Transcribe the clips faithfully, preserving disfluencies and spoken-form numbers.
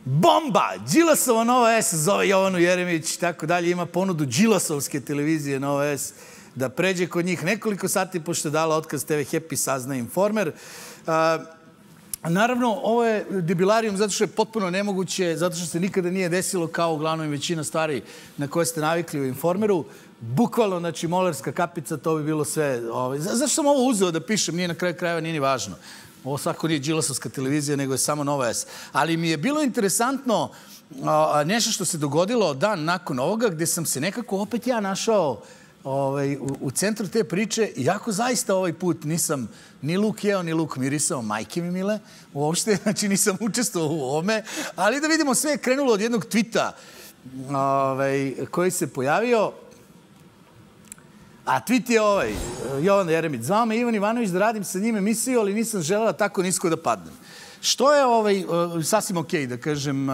Bomba! Đilasova Nova S zove Jovanu Jeremić i tako dalje. Ima ponudu Đilasovske televizije Nova S da pređe kod njih nekoliko sati pošto je dala otkaz te ve Happy, sazna Informer. Naravno, ovo je debilarijum zato što je potpuno nemoguće, zato što se nikada nije desilo kao uglavnom većina stvari na koje ste navikli u Informeru. Bukvalno, znači, molerska kapica, to bi bilo sve. Zašto sam ovo uzeo da pišem? Nije na kraju krajeva, nije ni važno. Ovo svako nije Đilasovska televizija, nego je samo Nova S. Ali mi je bilo interesantno nešto što se dogodilo dan nakon ovoga, gde sam se nekako opet ja našao u centru te priče, iako zaista ovaj put nisam ni luk jeo, ni luk mirisao, majke mi mile, uopšte, znači nisam učestvovao u ovome, ali da vidimo, sve je krenulo od jednog tvita koji se pojavio, a tweet je ovaj, Jovana Jeremić, zvao me Ivan Ivanović da radim sa njim emisiju, ali nisam želela tako nisko da padnem. Što je ovaj, sasvim okej, da kažem,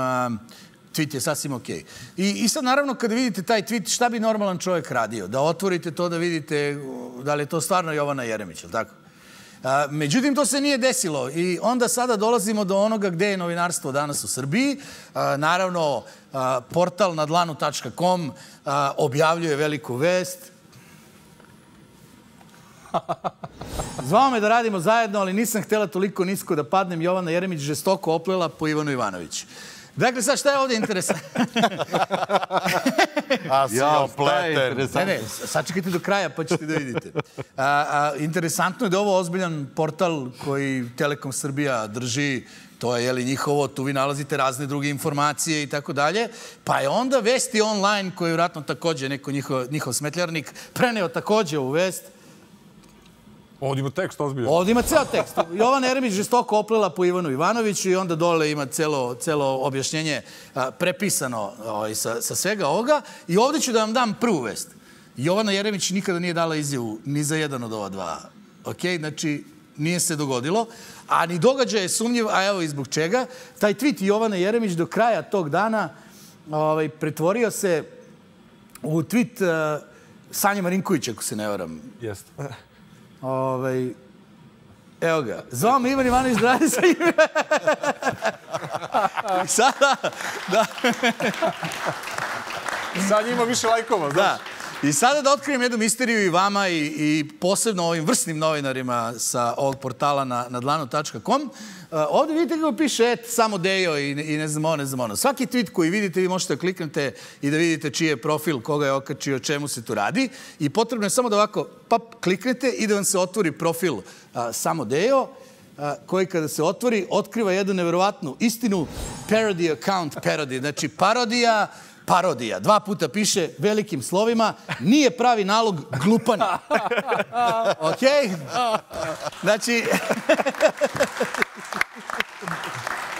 tweet je sasvim okej. I sad, naravno, kada vidite taj tweet, šta bi normalan čovjek radio? Da otvorite to, da vidite da li je to stvarno Jovana Jeremić, ili tako? Međutim, to se nije desilo i onda sada dolazimo do onoga gde je novinarstvo danas u Srbiji. Naravno, portal na dlanu tačka com objavljuje veliku vest. Zvao me da radimo zajedno, ali nisam htjela toliko nisko da padnem. Jovana Jeremić žestoko oplela po Ivanu Ivanoviću. Dakle, sad šta je ovdje interesantno? A si opleten. Ne, ne, sad čekajte do kraja pa ćete da vidite. Interesantno je da je ovo ozbiljan portal koji Telekom Srbija drži. To je, jeli, njihovo, tu vi nalazite razne druge informacije i tako dalje. Pa je onda Vesti online, koji je vjerojatno također neko njihov smetljarnik, preneo također ovu vest. Ovdje ima tekst ozbiljan. Ovdje ima ceo tekst. Jovana Jeremić žestoko oplela po Ivanu Ivanoviću i onda dole ima celo objašnjenje prepisano sa svega ovoga. I ovdje ću da vam dam prvu vest. Jovana Jeremić nikada nije dala izjavu ni za jedan od ova dva. Ok, znači nije se dogodilo. A ni događaj je sumnjiv, a evo i zbog čega. Taj tweet Jovana Jeremić do kraja tog dana pretvorio se u tweet Sanje Marinkovića, ako se ne varam. Jeste. Evo ga. Zvao me Ivan Ivanović da radi sa njim. I sada... Sad ima više lajkova, znaš. I sada da otkrijem jednu misteriju i vama i posebno ovim vrsnim novinarima sa ovog portala na dlanu tačka com. Ovdje vidite kako piše, et, samo Dejo i ne znam ono, ne znam ono. Svaki tweet koji vidite, vi možete da kliknete i da vidite čiji je profil, koga je okačio, o čemu se tu radi. I potrebno je samo da ovako, pap, kliknete i da vam se otvori profil samo Dejo, koji kada se otvori, otkriva jednu neverovatnu istinu, parody account parody, znači parodija, parodija. Dva puta piše velikim slovima, nije pravi nalog glupani. Okej? Znači...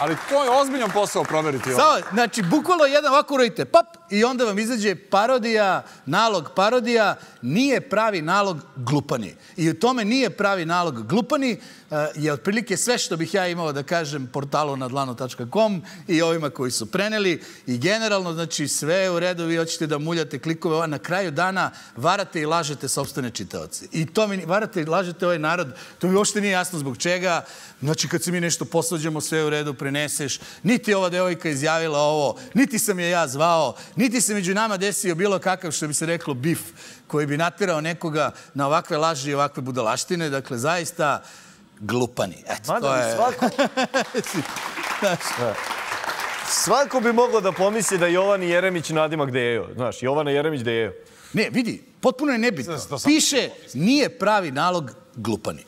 Ali to je ozbiljan posao proveriti. Znači, bukvalno jedan ovako uradite, pap, i onda vam izađe parodija, nalog parodija, nije pravi nalog glupani. I u tome nije pravi nalog glupani je otprilike sve što bih ja imao da kažem portalu na dlanu tačka com i ovima koji su preneli. I generalno, znači, sve je u redu, vi hoćete da muljate klikove, na kraju dana varate i lažete sopstvene čitaoce. I to mi varate i lažete ovaj narod, to mi uopšte nije jasno zbog čega. Znači, kad se mi nešto posvađamo, sve je u redu, preneseš. Niti ova devojka izjavila ovo, niti sam je ja zvao, niti se među nama desio bilo kakav, što bi se reklo, bif, koji bi naterao nekoga na ovakve laži i ovakve budalaštine. Dakle, zaista glupani. Eto, to je... Svako bi moglo da pomisli da Jovani Jeremić nadimak Dejo. Znaš, Jovana Jeremić Dejo. Ne, vidi, potpuno je nebitno. Piše, nije pravi nalog glupani.